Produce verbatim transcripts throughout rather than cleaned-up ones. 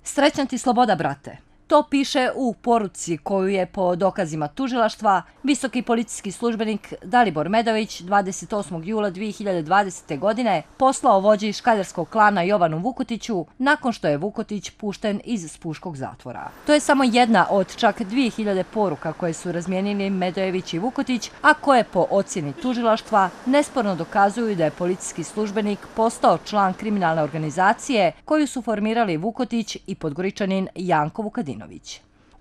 Srećna ti sloboda, brate. To piše u poruci koju je po dokazima tužilaštva visoki policijski službenik Dalibor Medović dvadeset osmog jula dvije hiljade dvadesete. godine poslao vođi škaljarskog klana Jovanu Vukotiću nakon što je Vukotić pušten iz spuškog zatvora. To je samo jedna od čak dvije hiljade poruka koje su razmijenili Medojević i Vukotić, a koje po ocjeni tužilaštva nesporno dokazuju da je policijski službenik postao član kriminalne organizacije koju su formirali Vukotić i Podgoričanin Janko Vukadinović.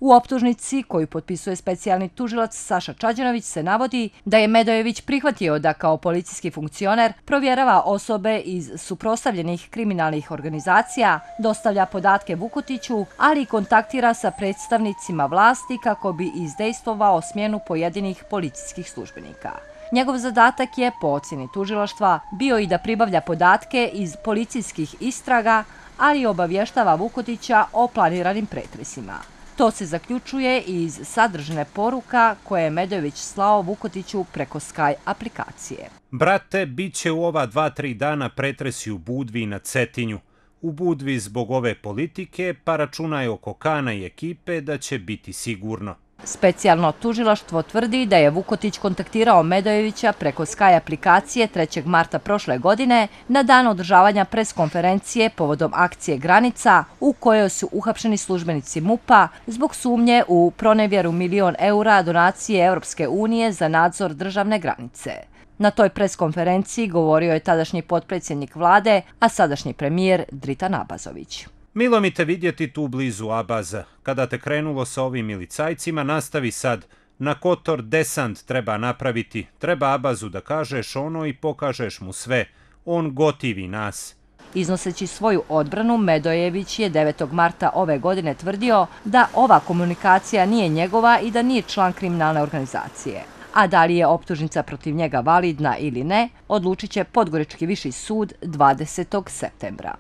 U optužnici koju potpisuje specijalni tužilac Saša Čađanović se navodi da je Medojević prihvatio da kao policijski funkcioner provjerava osobe iz suprotstavljenih kriminalnih organizacija, dostavlja podatke Vukotiću, ali i kontaktira sa predstavnicima vlasti kako bi izdejstvovao smjenu pojedinih policijskih službenika. Njegov zadatak je, po ocjeni tužilaštva, bio i da pribavlja podatke iz policijskih istraga, ali i obavještava Vukotića o planiranim pretresima. To se zaključuje iz sadržine poruka koje je Medojević slao Vukotiću preko Sky aplikacije. Brate, bit će u ova dva, tri dana pretresi u Budvi i na Cetinju. U Budvi zbog ove politike, pa računaj oko Kana i ekipe da će biti sigurno. Specijalno tužilaštvo tvrdi da je Vukotić kontaktirao Medojevića preko Sky aplikacije trećeg marta prošle godine na dan održavanja preskonferencije povodom akcije Granica u kojoj su uhapšeni službenici MUP-a zbog sumnje u pronevjeru milion eura donacije Europske unije za nadzor državne granice. Na toj preskonferenciji govorio je tadašnji potpredsjednik vlade, a sadašnji premijer Dritan Abazović. Milo mi te vidjeti tu blizu Abaza. Kada te krenulo sa ovim milicajcima, nastavi sad. Na Kotor desant treba napraviti. Treba Abazu da kažeš ono i pokažeš mu sve. On gotivi nas. Iznoseći svoju odbranu, Medojević je devetog marta ove godine tvrdio da ova komunikacija nije njegova i da nije član kriminalne organizacije. A da li je optužnica protiv njega validna ili ne, odlučit će Podgorički viši sud dvadesetog septembra.